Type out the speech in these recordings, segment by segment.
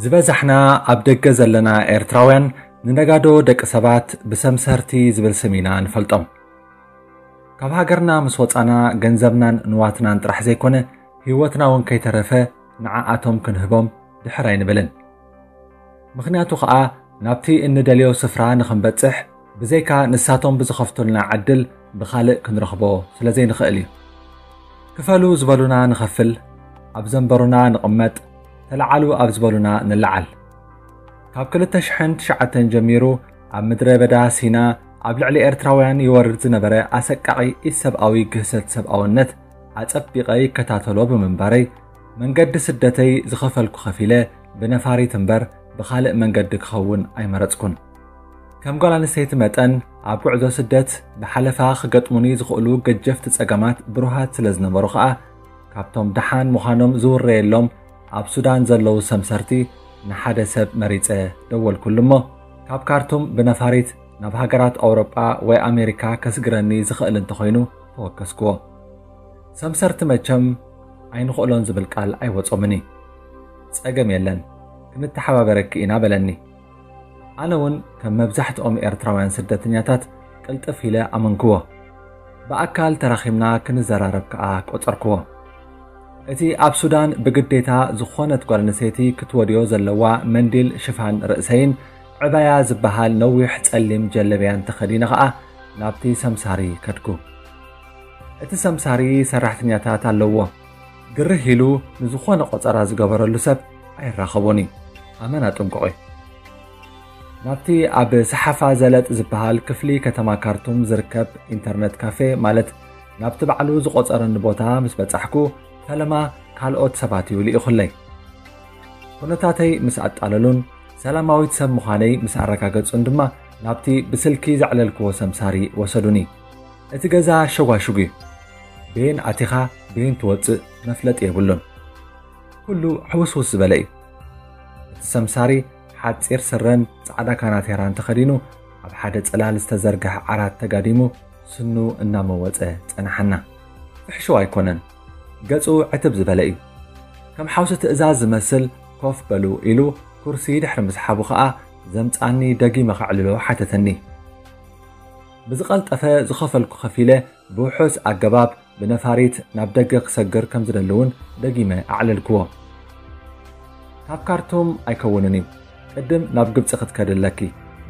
ዝበዛሕና ኣብ ደገ ዘለና ኤርትራውያን ንነጋዶ ደቂ ሰባት ብሰምሰርቲ ዝብል ስም ኢና ንፈልጦም። ካብ ሃገርና ምስ ወጻና ገንዘብናን ንዋትናን ጥራሕ ዘይኮነ ህይወትና እውን ከይተረፈ ንዓኣቶም ክንህቦም ድሕር ኣይንብልን። ምኽንያቱ ኸኣ ናብቲ እንደልዮ ስፍራ ንኽንበጽሕ ብዘይካ ንሳቶም ብዝኸፍቱልና ዕድል ብኻልእ ክንረኽቦ ስለ ዘይንኽእል እዩ። ክፈሉ ዝበሉና ንኸፍል፣ ኣብ ዘንበሩና ንቕመጥ፣ ተለዓሉ ኣብ ዝበሉና ንለዓል። ካብ ክልተ ሽሕን ትሽዓተን ጀሚሩ ኣብ ምድረ በዳ ሲና ኣብ ልዕሊ ኤርትራውያን ይወርድ ዝነበረ ኣሰቃቒ ኢሰብኣዊ ግህሰት ሰብኣውነት ኣጸቢቐ ይከታተሎ ብምንባረይ መንገዲ ስደተይ ዝኸፈልኩ ከፊለ ብነፋሪት እምበር ብኻልእ መንገዲ ክኸውን ኣይመረጽኩን። ከም ጓል ኣንስተይቲ መጠን ኣብ ጉዕዞ ስደት ብሓለፋ ክገጥሙኒ ዝኽእሉ ገጀፍቲ ጸገማት ብሩሃት ስለ ዝነበሩ ኸኣ ካብቶም ደሓን ምዃኖም ዝውረየሎም ኣብ ሱዳን ዘለዉ ሰምሰርቲ ንሓደ ሰብ መሪጸ ደወልኩሉ እሞ ካብ ካርቱም ብነፋሪት ናብ ሃገራት ኣውሮጳ ወይ ኣሜሪካ ከስግረኒ ዝኽእል እንተኾይኑ ተወከስክዎ። ሰምሰርቲ መቸም ኣይንኽእሎን ዝብል ቃል ኣይወጾምን እዩ። ጸገም የለን፣ ክንተሓባበረኪ ኢና በለኒ። ኣነ እውን ከም መብዛሕትኦም ኤርትራውያን ስደተኛታት ቅልጥፍ ኢለ ኣመንክዎ። ብኣካል ተራኺብና ክንዘራረብ ከኣ ቆጸርክዎ። እቲ ኣብ ሱዳን ብግዴታ ዝኾነት ጓል ኣንስተይቲ ክትወድዮ ዘለዋ መንዲል ሽፋን ርእሰይን ዕባያ ዝበሃል ነዊሕ ጸሊም ጀለብያን ተኸዲነ ኸኣ ናብቲ ሰምሳሪ ከድኩ። እቲ ሰምሳሪ ሰራሕተኛታት ኣለዎ። ግርህ ኢሉ ንዝኾነ ቆጸራ ዝገበረሉ ሰብ ኣይራኸቦን እዩ። ኣመና ጥንቁቕ እዩ። ናብቲ ኣብ ሰሓፋ ዘለጥ ዝበሃል ክፍሊ ከተማ ካርቱም ዝርከብ ኢንተርነት ካፌ ማለት ናብቲ ባዕሉ ዝቆጸረኒ ቦታ ምስ በጻሕኩ ፈለማ ካልኦት ሰባት እዩ ልኢኹለይ። ኩነታተይ ምስ ኣጣለሉን ሰላማዊት ሰብ ምዃነይ ምስ ኣረጋገጹን ድማ ናብቲ ብስልኪ ዘዕለልክዎ ሰምሳሪ ወሰዱኒ። እቲ ገዛ ሸጓሹግ እዩ። ቤን ኣቲኻ ቤን ትወጽእ መፍለጥ የብሉን። ኩሉ ሕውስውስ ዝበለ እዩ። እቲ ሰምሳሪ ሓጺር ስረን ጻዕዳ ካናቴራን ተኸዲኑ ኣብ ሓደ ጽላል ዝተዘርግሐ ዓራት ተጋዲሙ ስኑ እናመወጸ ጸናሓና። ፍሕሽው ኣይኮነን። ገጹ ዕትብ ዝበለ እዩ። ከም ሓውሲ ትእዛዝ ዝመስል ኮፍ በሉ ኢሉ ኩርሲ ድሕሪ ምስሓቡ ኸኣ ዘምጻኒ ደጊመ ከዕልሎ ሓተተኒ። ብዝቐልጠፈ ዝኸፈልኩ ከፊለ ብውሑስ ኣገባብ ብነፋሪት ናብ ደገ ክሰግር ከም ዝደሊ እውን ደጊመ ኣዕለልክዎ። ካብ ካርቱም ኣይከውንን እዩ። ቅድም ናብ ግብጺ ክትከዲ ኣለኪ።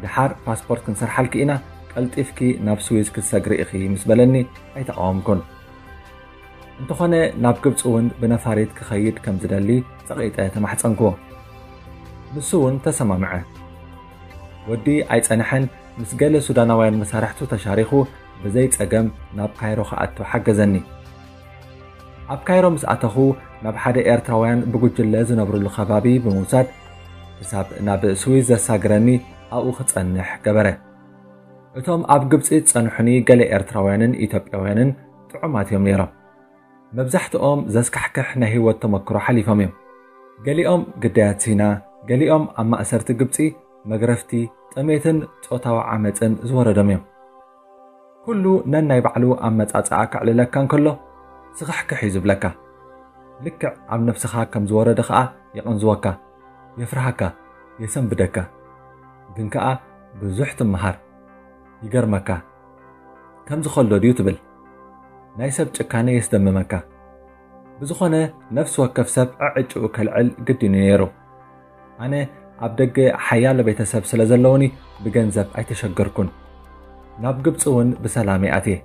ድሓር ፓስፖርት ክንሰርሓልኪ ኢና፣ ቀልጢፍኪ ናብ ስዊዝ ክትሰግሪ ኢኺ ምስ በለኒ ኣይተቓወምኩን። እንተኾነ ናብ ግብጺ እውን ብነፋሪት ክኸይድ ከም ዝደሊ ጸቒጠ ተማሕጸንክዎ። ንሱ እውን ተሰማምዐ። ወዲ ኣይጸንሐን፣ ምስ ገለ ሱዳናውያን መሳርሕቱ ተሻሪኹ ብዘይ ጸገም ናብ ካይሮ ክኣቱ ሓገዘኒ። ኣብ ካይሮ ምስ ኣተኹ ናብ ሓደ ኤርትራውያን ብጉጅለ ዝነብሩሉ ከባቢ ብምውሳድ ክሳብ ናብ ስዊዝ ዘሳግረኒ ኣብኡ ክጸንሕ ገበረ። እቶም ኣብ ግብጺ ዝጸንሑኒ ገለ ኤርትራውያንን ኢትዮጵያውያንን ጥዑማት እዮም ነይሮም። መብዛሕትኦም ዘስካሕክሕ ናይ ህይወት ተመክሮ ሓሊፎም እዮም። ገሊኦም ግዳያት ሲና፣ ገሊኦም ኣብ ማእሰርቲ ግብጺ፣ መግረፍቲ፣ ጥሜትን ጾታዊ ዓመጽን ዝወረዶም እዮም። ኩሉ ነናይ ባዕሉ ኣመጻጽኣ ከዕልለካ እንከሎ ስኽሕክሕ እዩ ዝብለካ። ልክዕ ኣብ ነፍስኻ ከም ዝወረደ ኸኣ የቐንዝወካ፣ የፍርሃካ፣ የሰንብደካ። ግን ከኣ ብዙሕ ትመሃር። ይገርመካ። ከምዚ ከሎ ድዩ ትብል? ናይ ሰብ ጭካነ የስደምመካ። ብዝኾነ ነፍሲ ወከፍ ሰብ ዕዕጭኡ ከልዕል ግድን እዩ ነይሩ። ኣነ ኣብ ደገ ሓያሎ ቤተሰብ ስለ ዘለውኒ ብገንዘብ ኣይተሸገርኩን። ናብ ግብጺ እውን ብሰላም እየ ኣትየ።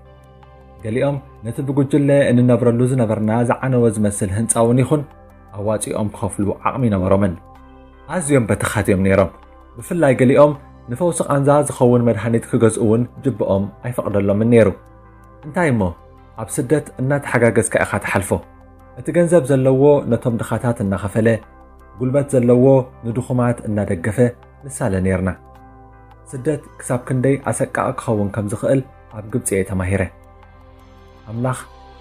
ገሊኦም ነቲ ብጉጅለ እንነብረሉ ዝነበርና ዝዓነወ ዝመስል ህንጻ እውን ይኹን ኣዋጺኦም ክኸፍሉ ዓቕሚ ነበሮምን። ኣዝዮም በተኻት እዮም ነይሮም። ብፍላይ ገሊኦም ንፈውሲ ቃንዛ ዝኸውን መድሃኒት ክገዝኡ እውን ጅብኦም ኣይፈቕደሎምን ነይሩ። እንታይ እሞ ኣብ ስደት እናተሓጋገዝካ ኢኻ ትሓልፎ። እቲ ገንዘብ ዘለዎ ነቶም ድኻታት እናኸፈለ፣ ጉልበት ዘለዎ ንድኹማት እናደገፈ ንሳለ ነይርና። ስደት ክሳብ ክንደይ ኣሰቃቒ ክኸውን ከም ዝኽእል ኣብ ግብጺ እየ ተማሂረ። ኣምላኽ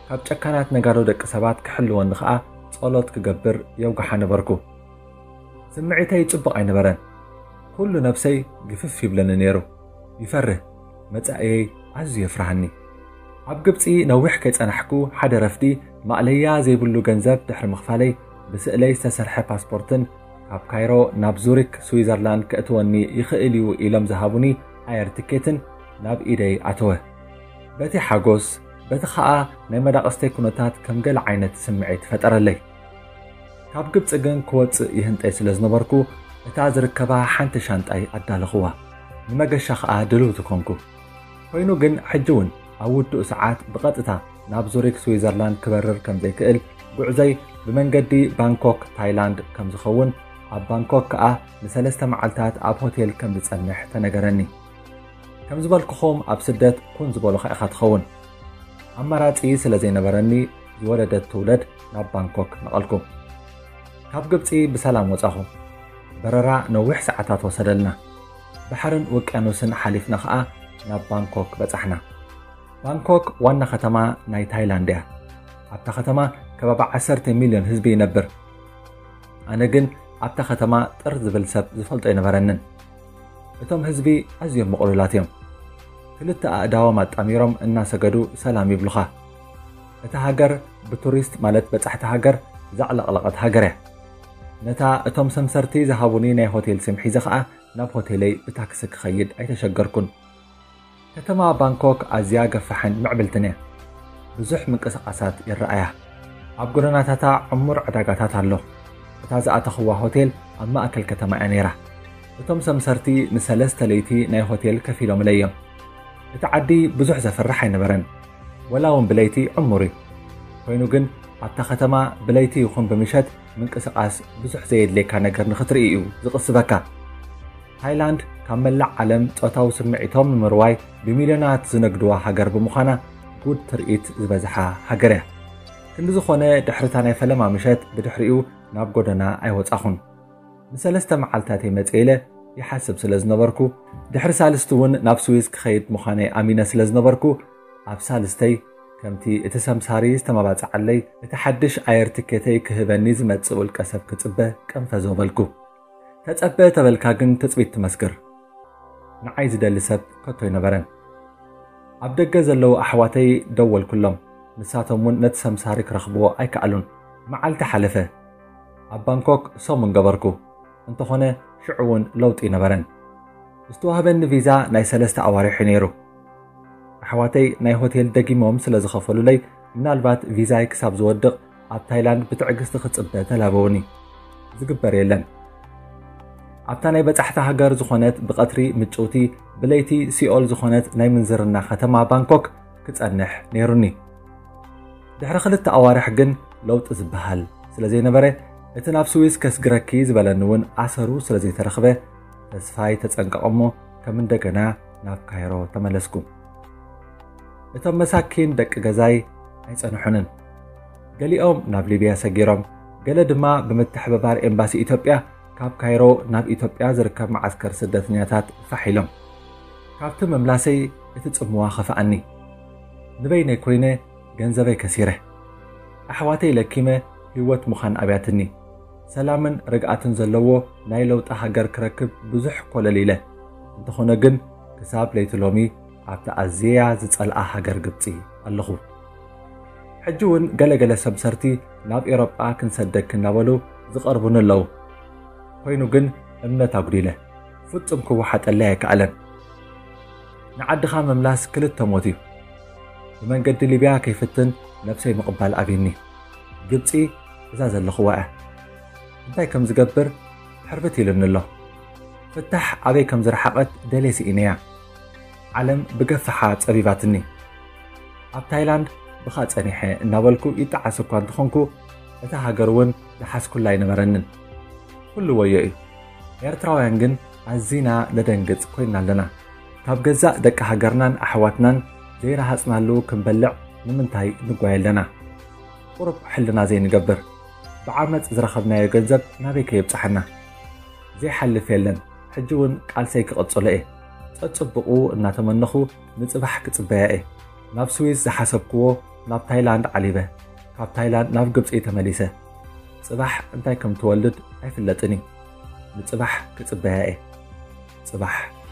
ካብ ጨካናት ነጋዶ ደቂ ሰባት ክሕልወኒ ኸኣ ጸሎት ክገብር የውግሓ ነበርኩ። ስምዒተይ ጽቡቕ ኣይነበረን። ኩሉ ነብሰይ ግፍፍ ይብለኒ ነይሩ። ይፈርህ፣ መጻእየይ ኣዝዩ የፍርሃኒ። ኣብ ግብጺ ነዊሕ ከይጸናሕኩ ሓደ ረፍዲ ማእለያ ዘይብሉ ገንዘብ ድሕሪ ምኽፋለይ ብስእለይ ዝተሰርሐ ፓስፖርትን ካብ ካይሮ ናብ ዙሪክ ስዊዘርላንድ ከእትወኒ ይኽእል እዩ ኢሎም ዝሃቡኒ ኣየር ትኬትን ናብ ኢደይ ኣተወ። በቲ ሓጎስ፣ በቲ ኸኣ ናይ መዳቕስተይ ኩነታት ከም ገለ ዓይነት ስምዒት ፈጠረለይ። ካብ ግብጺ ግን ክወጽእ ይህንጠይ ስለ ዝነበርኩ፣ እታ ዝርከባ ሓንቲ ሻንጣይ ኣዳለኽዋ። ንመገሻ ኸኣ ድልውቲ ኮንኩ። ኮይኑ ግን ሕጂ እውን ኣብ ውዱእ ሰዓት ብቐጥታ ናብ ዙሪክ ስዊዘርላንድ ክበርር ከም ዘይክእል፣ ጉዕዞይ ብመንገዲ ባንኮክ ታይላንድ ከም ዝኸውን፣ ኣብ ባንኮክ ከኣ ንሰለስተ መዓልታት ኣብ ሆቴል ከም ዝጸንሕ ተነገረኒ። ከም ዝበልኩኹም ኣብ ስደት ኩን ዝበሉኻ ኢኻ ትኸውን። ኣማራጺ ስለ ዘይነበረኒ ዝወለደት ትውለድ ናብ ባንኮክ ነቐልኩ። ካብ ግብጺ ብሰላም ወጻኹ። በረራ ነዊሕ ሰዓታት ወሰደልና። ባሕርን ውቅያኖስን ሓሊፍና ኸኣ ናብ ባንኮክ በጻሕና። ባንኮክ ዋና ከተማ ናይ ታይላንድ እያ። ኣብታ ከተማ ከባቢ ዓሰርተ ሚልዮን ህዝቢ ይነብር። ኣነ ግን ኣብታ ከተማ ጥር ዝብል ሰብ ዝፈልጦ ኣይነበረንን። እቶም ህዝቢ ኣዝዮም ምቕሉላት እዮም። ክልተ ኣእዳዎም ኣጣሚሮም እናሰገዱ ሰላም ይብሉኻ። እታ ሃገር ብቱሪስት ማለት በጻሕቲ ሃገር ዘዕለቕለቐት ሃገር እያ። ነታ እቶም ሰምሰርቲ ዝሃቡኒ ናይ ሆቴል ስም ሒዘ ኸኣ ናብ ሆቴለይ ብታክሲ ክኸይድ ኣይተሸገርኩን። ከተማ ባንኮክ ኣዝያ ገፋሕን ምዕብልትን እያ። ብዙሕ ምንቅስቓሳት ይረኣያ። ኣብ ጎደናታታ ዕሙር ዕዳጋታት ኣሎ። እታ ዝኣተኽዋ ሆቴል ኣብ ማእከል ከተማ እያ ነይራ። እቶም ሰምሰርቲ ንሰለስተ ለይቲ ናይ ሆቴል ከፊሎምለይ እዮም። እቲ ዓዲ ብዙሕ ዘፍርሕ ኣይነበረን። ወላ እውን ብለይቲ ዕሙር እዩ። ኮይኑ ግን ኣብታ ከተማ ብለይቲ ይኹን ብምሸት ምንቅስቓስ ብዙሕ ዘየድልየካ ነገር ንኽትርኢ እዩ ዝቕስበካ። ታይላንድ ካብ መላእ ዓለም ጾታዊ ስምዒቶም ንምርዋይ ብሚልዮናት ዝነግድዋ ሃገር ብምዃና ጉድ ትርኢት ዝበዝሓ ሃገር እያ። ክንዲ ዝኾነ ድሕሪታ ናይ ፈለማ ምሸት ብድሕሪኡ ናብ ጎደና ኣይወጻኹን። ንሰለስተ መዓልታት እየ መጽእ ኢለ ይሓስብ ስለ ዝነበርኩ፣ ድሕሪ ሳልስቲ እውን ናብ ስዊዝ ክኸይድ ምዃነይ ኣሚነ ስለ ዝነበርኩ፣ ኣብ ሳልስተይ ከምቲ እቲ ሰምሳሪ ዝተመባጽዓለይ እቲ ሓድሽ ኣየር ትኬተይ ክህበኒ ዝመጽእ ውልቀ ሰብ ክጽበ ቀንፈዞ በልኩ። ተጸበ ተበልካ ግን ትጽቢት ትመስክር። ንዓይ ዝደሊ ሰብ ከቶ ኣይነበረን። ኣብ ደገ ዘለዉ ኣሕዋተይ ደወልኩሎም። ንሳቶም እውን ነቲ ሰምሳሪ ክረኽብዎ ኣይከኣሉን። መዓልቲ ሓለፈ። ኣብ ባንኮክ ሰሙን ገበርኩ። እንተኾነ ሽዑ እውን ለውጢ ኣይነበረን። ዝተዋህበኒ ቪዛ ናይ ሰለስተ ኣዋርሕ እዩ ነይሩ። ኣሕዋተይ ናይ ሆቴል ደጊሞም ስለ ዝኸፈሉለይ፣ ምናልባት ቪዛይ ክሳብ ዝወድቕ ኣብ ታይላንድ ብትዕግስቲ ክጽበ ተላበውኒ። ዝግበር የለን። ኣብታ ናይ በጻሕቲ ሃገር ዝኾነት ብቐትሪ ምጭውቲ ብለይቲ ሲኦል ዝኾነት ናይ ምንዝርና ከተማ ባንኮክ ክጸንሕ ነይሩኒ። ድሕሪ ክልተ ኣዋርሕ ግን ለውጢ ዝበሃል ስለ ዘይነበረ፣ እቲ ናብ ስዊስ ከስግረኪ ዝበለኒ እውን ኣሰሩ ስለ ዘይተረኽበ፣ ተስፋይ ተጸንቀቐ እሞ ከም እንደገና ናብ ካይሮ ተመለስኩ። እቶም መሳኪን ደቂ ገዛይ ኣይጸንሑንን። ገሊኦም ናብ ሊብያ ሰጊሮም፣ ገለ ድማ ብምትሕብባር ኤምባሲ ኢትዮጵያ ካብ ካይሮ ናብ ኢትዮጵያ ዝርከብ መዓስከር ስደተኛታት ፋሕ ኢሎም። ካብቲ ምምላሰይ እቲ ጽምዋ ኸፍኣኒ። ንበይነይ ኮይነ ገንዘበይ ከሲረ። ኣሕዋተይ ለኪመ ህይወት ምዃን ኣብያትኒ። ሰላምን ርግኣትን ዘለዎ ናይ ለውጢ ሃገር ክረክብ ብዙሕ ኮለል ኢለ። እንተኾነ ግን ክሳብ ለይቲ ሎሚ ኣብቲ ኣዝያ ዝጸልኣ ሃገር ግብጺ ኣለኹ። ሕጂ እውን ገለገለ ሰምሰርቲ ናብ ኤውሮጳ ክንሰደኪ እናበሉ ዝቐርቡኒ ኣለዉ። ኮይኑ ግን እምነት ኣጉዲለ። ፍጹም ክወሓጠለይ ኣይከኣለን። ንዓድኻ ምምላስ ክልተ ሞት እዩ። ብመንገዲ ሊብያ ከይፍትን ነብሰይ ምቕባል ኣብይኒ። ግብጺ እዛ ዘለኽዋ እያ። እንታይ ከም ዝገብር ሕርብት ኢሉኒ ኣሎ። ፍታሕ ኣበይ ከም ዝረሓቐት ደልየ ስኢነያ። ዓለም ብገፈሓ ጸቢባትኒ። ኣብ ታይላንድ ብኻ ጸኒሐ እናበልኩ ይጠዓስ እኳ እንተኾንኩ፣ እታ ሃገር እውን ዝሓዝኩላ ኣይነበረንን። ኩሉ ወዮ እዩ። ኤርትራውያን ግን ኣዚና ነደንግጽ ኮይና ኣለና። ካብ ገዛእ ደቂ ሃገርናን ኣሕዋትናን ዘይረሃጽናሉ ክንበልዕ ንምንታይ ንጓየ ኣለና? ቁሩብ ሕልና ዘይንገብር? ብዓመጽ ዝረኸብናዮ ገንዘብ ናበይ ከየብጽሓና? ዘይሓልፍ የለን። ሕጂ እውን ቃልሰይ ክቕጽሎ እየ። ጸጽብቑ እናተመነኹ ንጽባሕ ክጽበያ እየ። ናብ ስዊስ ዝሓሰብክዎ ናብ ታይላንድ ዓሊበ፣ ካብ ታይላንድ ናብ ግብጺ ተመሊሰ። ጽባሕ እንታይ ከም ትወልድ ኣይፍለጥን እዩ። ንጽባሕ ክጽበያ እየ። ጽባሕ።